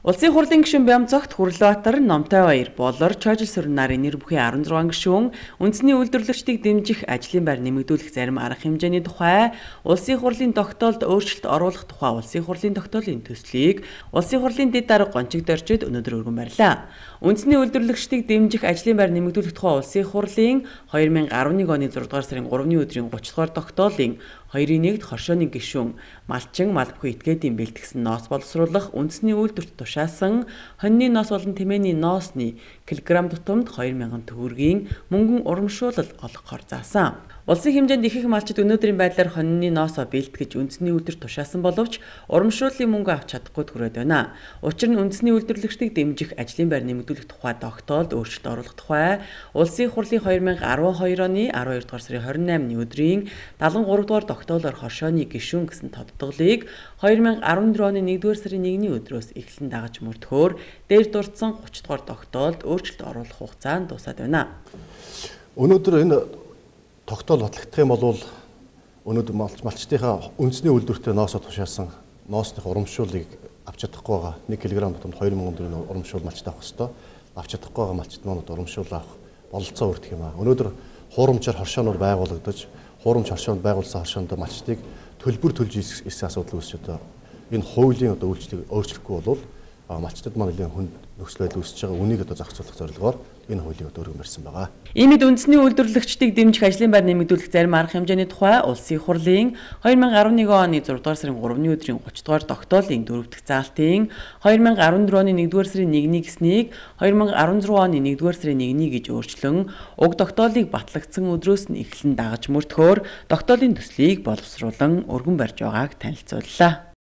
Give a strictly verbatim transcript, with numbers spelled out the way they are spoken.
Улсын хурлын гишүүн Бямцогт Хүрлбаатар, Номтой баяр, Болор, Чойжилсүрэн нарын нэр бүхий арван зургаан гишүүн үндэсний үйлдвэрлэгчдийг дэмжих ажлын байр нэмэгдүүлэх зарим арга хэмжээний тухай улсын хурлын тогтоолд өөрчлөлт оруулах тухай улсын хурлын тогтоолын төслийг улсын хурлын дэд дарга гончигд орчид өнөөдөр өргөн барьлаа. Үндэсний үйлдвэрлэгчдийг дэмжих ажлын байр нэмэгдүүлэх тухай улсын хурлын две тысячи арван нэг оны зургаадугаар сарын гуравны өдрийн гуравч дугаар тогтоолын хоёрын нэгд хоршооны гишүүн Малчин Малбгүй этгээдийн бэлтгэсэн ноос боловсруулах үндэсний үйлдвэрт тушаасан хоньны ноос болон тэмээний ноосны килограмм тутамд две мянган төгрөгийн мөнгөн урамшуулал олгохоор заасан. Улсын хэмжээнд их их малчид өнөөдрийн байдлаар хоньны ноосоо бэлтгэж үндэсний үйлдвэрт тушаасан боловч урамшууллын мөнгө авч чадахгүй төрөөд байна. Учир нь үндэсний үйлдвэрлэгчдийг дэмжих ажлын байр нэмэгдүүлэх тухай тогтоолд өөрчлөлт оруулах тухай улсын хурлын две тысячи арван хоёр оны араван хоёр дугаар сарын хорин наймны өдрийн дагалан гурав дугаар тогтоолоор хоршооны гишүүн гэсэн тодтголыг две тысячи арван дөрөв оны нэгдүгээр сарын нэгний өдрөөс эхлэн дагаж мөрдөхөөр дээр дурдсан гуравч дугаар тогтоолд өөрчлөлт оруулах хугацаа нь дуусаад байна. Өнөөдөр энэ тогтоол батлагдах юм бол өнөөдөр малчтынхаа үндэсний үйлдвэртээ ноосоо тушаасан ноосных урамшууллыг авч чадахгүй байгаа нэг килограмм тутамд две мянган төгрөгийн урамшуул малчтай авах ёстой. Авч чадахгүй байгаа малчт манууд урамшуул авах бололцоо өртөх юм аа. Өнөөдөр хуурамчаар хоршооноор байгуулагдаж, хуурамч хоршоонд байгуулсан хоршоонд малчтыг төлбөр төлж ирсэн асуудал үүсч одоо энэ хуулийн одоо үйлчлэгийг өөрчлөхгүй бол малчтад маань нэлээд хүнд нөхцөл байдал үүсэж байгаа. Үнийг одоо зохицуулах зорилгоор энэ хуулийг одоо өргөн барьсан байгаа. Иймд үндэсний үйлдвэрлэгчдийг дэмжих ажлын байр нэмэгдүүлэх зарим арга хэмжээний тухай улсын хурлын две тысячи арван нэг оны зургаадугаар сарын гуравны өдрийн гуравч дугаар тогтоолын дөрөв дэх заалтын две тысячи арван дөрөв оны нэгдүгээр сарын нэгний гэснийг две тысячи арван зургаан оны нэгдүгээр сарын нэгний гэж өөрчлөн уг тогтоолыг батлагдсан өдрөөс нь эхлэн дагаж мөрдөхөөр тогтоолын төслийг боловсруулан өргөн барьж байгааг танилцууллаа.